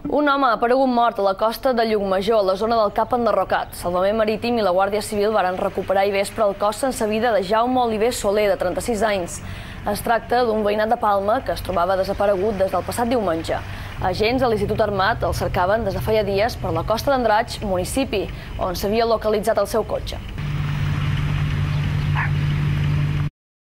Un home ha aparegut mort a la costa de Llucmajor, a la zona del Cap Enderrocat. Salvament Marítim i la Guàrdia Civil varen recuperar ahir vespre el cos sense vida de Jaume Oliver Soler, de 36 anys. Es tracta d'un veïnat de Palma que es trobava desaparegut des del passat diumenge. Agents de l'Institut Armat el cercaven des de feia dies per la costa d'Andratx, municipi on s'havia localitzat el seu cotxe.